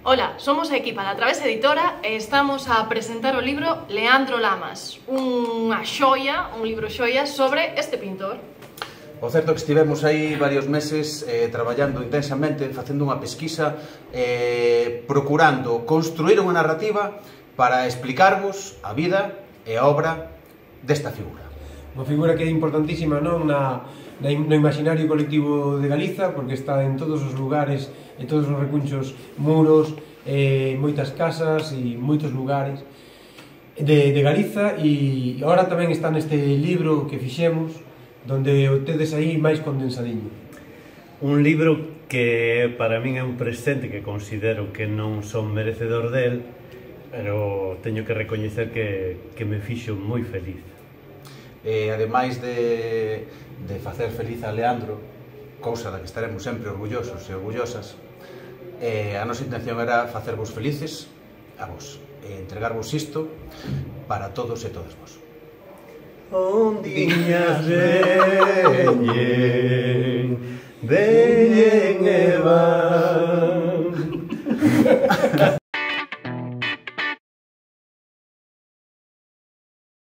Ola, somos a equipa da Través Editora e estamos a presentar o libro Leandro Lamas, unha xoia, un libro xoia sobre este pintor. O certo é que estivemos aí varios meses traballando intensamente, facendo unha pesquisa, procurando construir unha narrativa para explicarvos a vida e a obra desta figura. Unha figura que é importantísima no imaginario colectivo de Galiza, porque está en todos os lugares, en todos os recunchos, muros, moitas casas e moitos lugares de Galiza, e agora tamén está neste libro que fixemos, donde o tedes aí máis condensadiño. Un libro que para min é un presente que considero que non son merecedor del, pero teño que recoñecer que me fixo moi feliz. Ademais de facer feliz a Leandro, cousa da que estaremos sempre orgullosos e orgullosas, a nosa intención era facervos felices a vos, e entregarvos isto para todos e todas vos. Ondiñas veñen e van